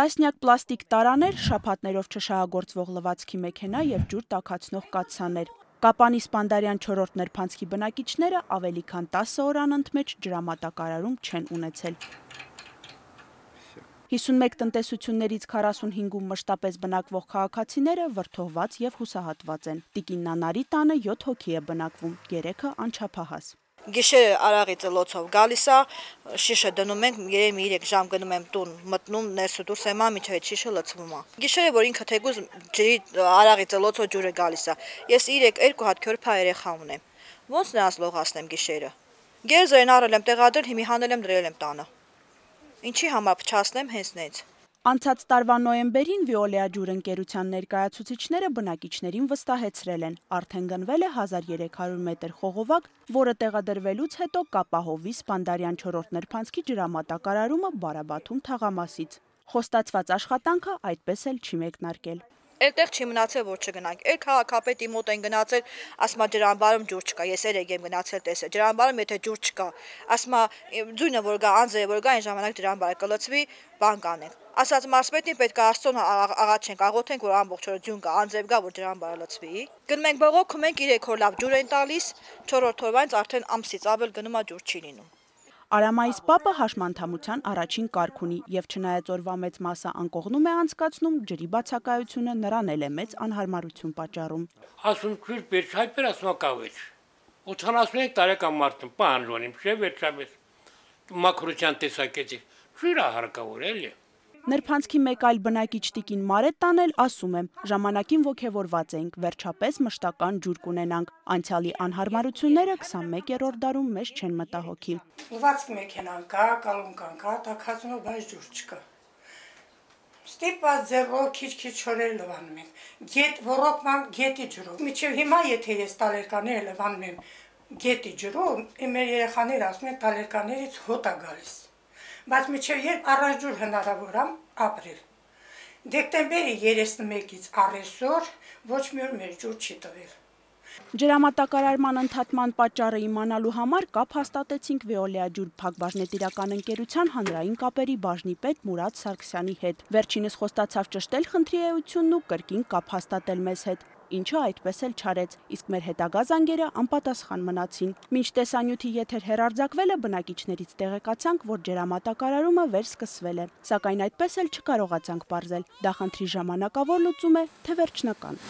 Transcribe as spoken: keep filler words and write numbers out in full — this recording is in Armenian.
Տասնյակ պլաստիկ տարաներ, շաբաթներով չշահագործվող լվացքի մեքենա և ջուր տաքացնող կաթսաներ։ Կապանի Սպանդարյան չորրորդ նրբանցքի բնակիչները ավելի քան տասը օր անընդմեջ ջրամատակարարում չեն ունեցել։ հիսունմեկ տնտեսություններից քառասունհինգում մշտապես բնակվող քաղաքացիները վրդովված և հուսահատված են։ Տիկին Նանարի տանը յոթ հոգի է բնակվում, երեքը անչափահաս։ Գիշերը արաղի ծլոցով գալիս է, շիշը դնում ենք, երևի երեք ժամ գնում եմ տուն, մտնում ներսը դուրս եմ ա, միջև շիշը լցվում է։ Գիշերը, որ ինքը թեկուզ ջրի արաղի ծլոցով ջուրը գալիս է։ Ես իրեք երկու հատ քյորփա երեխա ունեմ։ Ոնց նրանց լողացնեմ գիշերը։ Գերզերն առել եմ տեղադրել, հիմի հանել եմ դրել եմ տանը։ Ինչի համար փչացնեմ հենց նենց։ Անցած տարվա նոյեմբերին Վիոլեա ջուր ընկերության ներկայացուցիչները բնակիչներին վստահեցրել են, արդեն գնվել է հազար երեք հարյուր մետր խողովակ, որը տեղադրվելուց հետո կապահովի Սպանդարյան չորրորդ նրբանցքի ջրամատակարարումը Բարաբաթում թաղամասից։ Խոստացված աշխատանքը այդպես էլ չի մեկնարկել։ Այդտեղ չի մնացել, որ չգնանք։ Էլ քաղաքապետի մոտ են գնացել, ասма ջրամբարում ջուր չկա։ Ես երեք եմ գնացել տեսել։ Ջրամբարում եթե ջուր չկա, ասма ձույնը որ գա, անձերը որ գա, այն ժամանակ ջրամբարը կլցվի, բան կանենք։ Ասած մարզպետին պետք է Աստծուն աղաչենք, աղոթենք, որ ամբողջ օրը ձյուն կա, անձև գա, որ ջրամբարը լցվի։ Գնում ենք բողոքում ենք, իրեք հոր լավ ջուր են տալիս, չորրորդ օրվանից արդեն ամսից ավել գնում է ջուր չի լինում։ Արամայիս պապը հաշմանդամության առաջին կարգ ունի և չնայած օրվա մեծ մասը անկողնում է անցկացնում, ջրի բացակայությունը նրան էլ է մեծ անհարմարություն պատճառում։ Ասում չուր վերջայր ասում կավեջ։ ութանասունյոթ տարեկան մարդ եմ, պահանջում չէ վերջապես մաքրության տեսակետից։ Չուր հարկավոր էլի։ Նրբանցքի մեկ այլ բնակիչ տիկին Մարետտան էլ ասում է, ժամանակին ոգևորված էինք, վերջապես մշտական ջուր կունենանք, անցյալի անհարմարությունները քսանմեկերորդ դարում մեզ չեն մտահոգի։ Լվացքի մեքենան կա, կալունկան կա, տաքացնող բայց ջուր չկա։ Ստիպված ձեռով քիչ-քիչ չորեր լվանում ենք, գետ ոռոգման գետի ջրով։ Մինչև հիմա եթե ես տալերկաները լվանում եմ գետի ջրով, իմ երեխաները ասում են տալերկաներից հոտ է գալիս։ Բայց մինչև երբ առանց ջուր հնարավոր է ապրել։ Դեկտեմբերի երեսնմեկից առեսօր ոչ մի օր մեր ջուր չի տվել։ Ջրամատակարարման ընդհատման պատճառը իմանալու համար կապ հաստատեցինք Վիոլեա ջուր փակbaşնետիրական ընկերության հանրային կապերի բաժնի պետ Մուրադ Սարգսյանի հետ։ Վերջինս խոստացավ ճշտել խնդրի էությունն ու կրկին կապ հաստատել մեզ հետ, ինչը այդպես էլ չարեց, իսկ մեր հետագա զանգերը անպատասխան մնացին։ Մինչ տեսանյութի եթեր հեռարձակվելը բնակիչներից տեղեկացանք, որ ջրամատակարարումը վերսկսվել է, սակայն այդպես էլ չկարողացանք պարզել, դա խնդրի ժամանակավոր լուծում է, թե վերջնական։